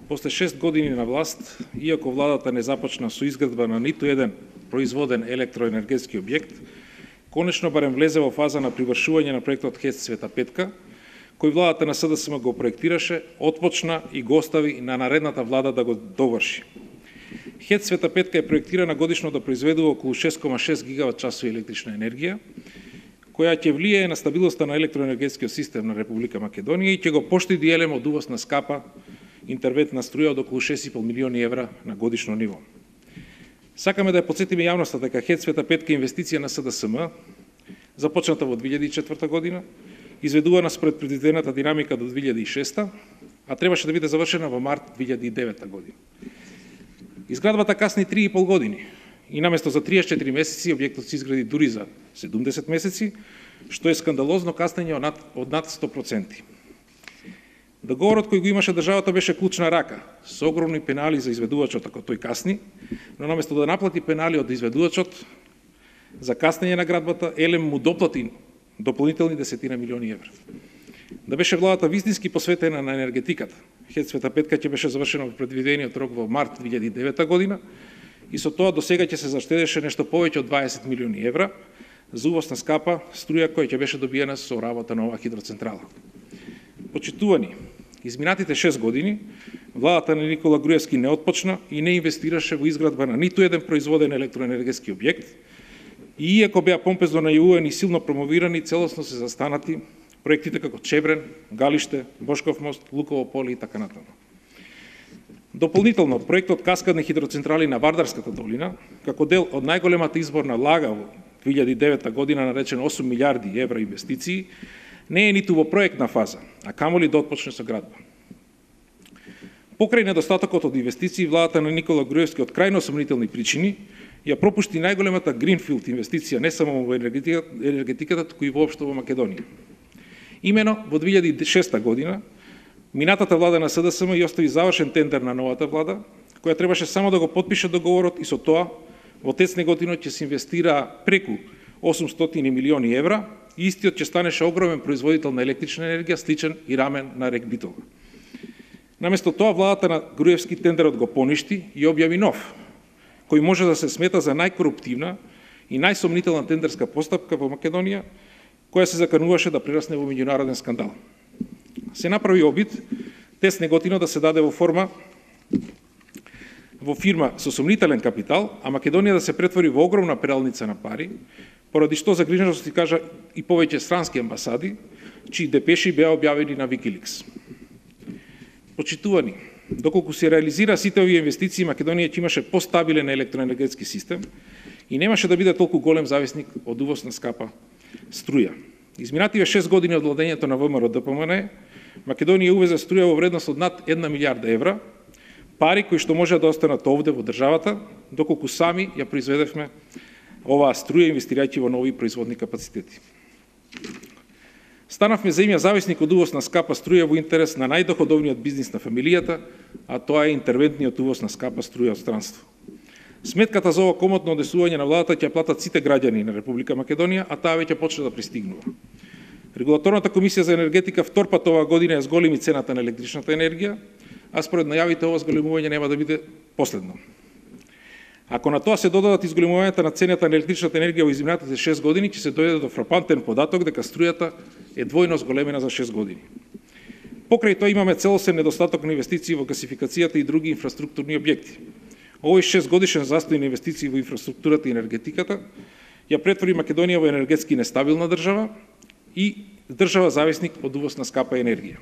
после 6 години на власт, иако владата не започна со изградба на ниту еден производен електроенергетски објект, конечно барем влезе во фаза на привршување на проектот ХЕЦ Света Петка, кој владата на СДСМ го проектираше, отпочна и го остави на наредната влада да го доврши. ХЕЦ Света Петка е проектирана годишно да произведува околу 6,6 гигават часови електрична енергија, која ќе влијае на стабилноста на електроенергетскиот систем на Република Македонија и ќе го поштеди елем од увоз на скапа интервентна струја од околу 6,5 милиони евра на годишно ниво. Сакаме да ја подсетиме јавноста дека ХЕЦ Света Петка е инвестиција на СДСМ, започната во 2004 година, изведувана според предвидената динамика до 2006, а требаше да биде завршена во март 2009 година. Изградбата касни 3,5 години и наместо за 34 месеци објектот се изгради дури за 70 месеци, што е скандалозно каснење од над 100%. Договорот кој го имаше државата беше клучна рака, со огромни пенали за изведувачот ако тој касни, но наместо да наплати пенали од изведувачот за каснење на градбата, елем му доплати дополнителни десетина милиони евра. Да беше владата вистински посветена на енергетиката, ХЕЦ Света Петка ќе беше завршена во предвидениот рок во март 2009 година и со тоа до сега ќе се заштедеше нешто повеќе од 20 милиони евра за увоз на скапа струја која ќе беше добиена со работа на оваа хидроцентрала. Почитувани, изминатите 6 години владата на Никола Груевски не отпочна и не инвестираше во изградба на ниту еден производен електроенергетски објект и иако беа помпезно најавувани и силно промовирани, целосно се застанати проектите како Чебрен, Галиште, Бошков мост, Луково поле и така натаму. Дополнително, проектот каскадни хидроцентрали на Вардарската долина, како дел од најголемата изборна лага во 2009 година наречен 8 милиарди евра инвестиции, не е ниту во проектна фаза, а камоли да отпочне со градба. Покрај недостатокот од инвестиции, владата на Никола Груевски од крајно сомнителни причини ја пропушти најголемата гринфилд инвестиција не само во енергетиката, туку и воопшто во Македонија. Имено во 2006 година, минатата влада на СДСМ ја остави завршен тендер на новата влада, која требаше само да го потпише договорот и со тоа во ТЕЦ Неготино ќе се инвестира преку 800 милиони евра и истиот ќе станеше огромен производител на електрична енергија, сличен и рамен на рек Битола. Наместо тоа, владата на Груевски тендерот го поништи и објави нов, кој може да се смета за најкоруптивна и најсомнителна тендерска постапка во Македонија, која се закануваше да прерасне во меѓународен скандал. Се направи обид ТЕЦ Неготино да се даде во фирма со сомнителен капитал, а Македонија да се претвори во огромна пералница на пари, поради што загриженост ти кажа и повеќе странски амбасади, чии депеши беа објавени на Wikileaks. Почитувани, доколку се реализира сите овие инвестиции, Македонија ќе имаше постабилен електроенергетски систем и немаше да биде толку голем зависник од увоз на скапа струја. Изминативе 6 години од владењето на ВМРО ДПМН, Македонија увезе струја во вредност од над 1 милиарда евра, пари кои што може да останат овде во државата, доколку сами ја произведевме оваа струја инвестирајќи во нови производни капацитети. Станавме земја зависник од увоз на скапа струја во интерес на најдоходовниот бизнис на фамилијата, а тоа е интервентниот увоз на скапа струја од странство. Сметката за ова комотно одесување на владата ќе платат сите граѓани на Република Македонија, а таа веќе почна да пристигнува. Регулаторната комисија за енергетика втор пат оваа година ја зголеми цената на електричната енергија, а според најавите ова зголемување нема да биде последно. Ако на тоа се додадат изголемувањата на цената на електричната енергија во изминатите 6 години, ќе се дојде до фрапантен податок дека струјата е двојно зголемена за 6 години. Покрај тоа имаме целосен недостаток на инвестиции во гасификацијата и други инфраструктурни објекти. Овој 6 годишен застој на инвестиции во инфраструктурата и енергетиката ја претвори Македонија во енергетски нестабилна држава и држава зависник од увоз на скапа енергија.